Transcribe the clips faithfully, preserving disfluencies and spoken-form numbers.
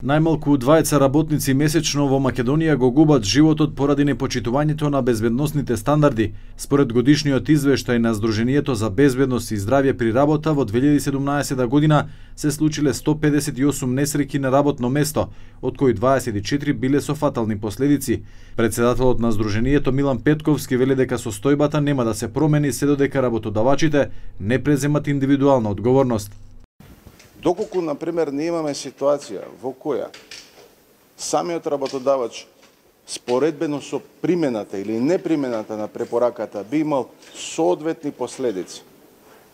Најмалку дваесет работници месечно во Македонија го губат животот поради непочитувањето на безбедносните стандарди. Според годишниот извештај на Сдруженијето за безбедност и здравје при работа, во две илјади и седумнаесета година се случиле сто педесет и осум несреќи на работно место, од кои дваесет и четири биле со фатални последици. Председателот на Сдруженијето Милан Петковски вели дека состојбата нема да се промени се додека работодавачите не преземат индивидуална одговорност. Доколку, например, не имаме ситуација во која самиот работодавач споредбено со примената или непримената на препораката би имал соодветни последици,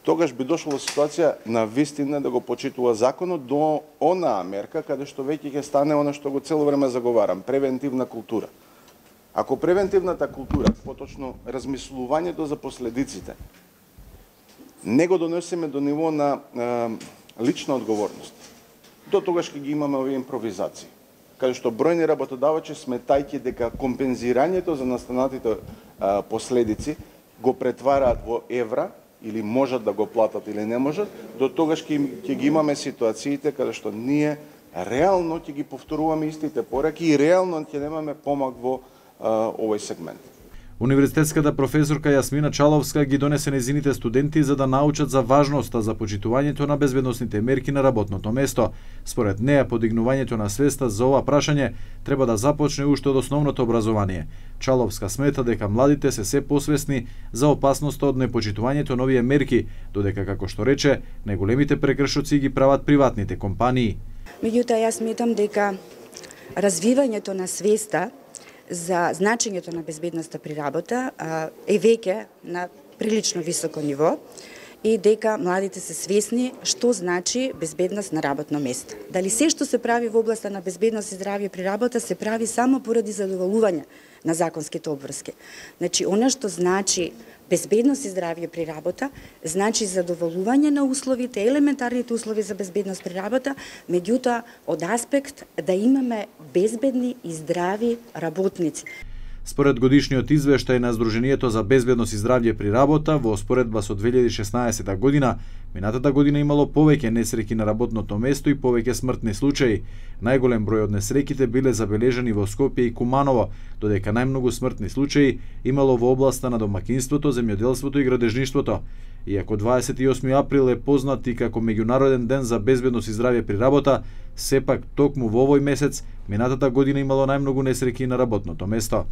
тогаш би дошло во ситуација на вистина да го почитува законот до онаа мерка каде што веќе ќе стане она што го цело време заговарам, превентивна култура. Ако превентивната култура, поточно размислувањето за последиците, не го донесеме до ниво на лична одговорност, до тогаш ќе ги имаме овие импровизации, каде што бројни работодавачи сметајќи дека компензирањето за настанатите а, последици го претвараат во евра или можат да го платат или не можат, до тогаш ќе, ќе ги имаме ситуациите каде што ние реално ќе ги повторуваме истите пораки и реално ќе немаме помак во а, овој сегмент. Универзитетската професорка Јасмина Чаловска ги донесе незините студенти за да научат за важноста за почитувањето на безбедносните мерки на работното место. Според неја, подигнувањето на свеста за ова прашање треба да започне уште од основното образование. Чаловска смета дека младите се се посвесни за опасноста од непочитувањето на овие мерки, додека, како што рече, најголемите прекршоци ги прават приватните компании. Меѓутоа, јас сметам дека развивањето на свеста за значењето на безбедноста при работа е веќе на прилично високо ниво и дека младите се свесни што значи безбедност на работно место. Дали се што се прави во областа на безбедност и здравје при работа се прави само поради задоволување на законските обврски. Значи, она што значи безбедност и здравје при работа, значи задоволување на условите, елементарните услови за безбедност при работа, меѓутоа од аспект да имаме безбедни и здрави работници. Според годишниот извештај на Сдруженијето за безбедност и здравје при работа, во споредба со две илјади и шеснаесета година, минатата година имало повеќе несреќи на работното место и повеќе смртни случаи. Најголем број од несреќите биле забележани во Скопје и Куманово, додека најмногу смртни случаи имало во областа на домакинството, земјоделството и градежништвото. Иако дваесет и осми април е познат и како меѓународен ден за безбедност и здравје при работа, сепак токму во овој месец минатата година имало најмногу несреќи на работното место.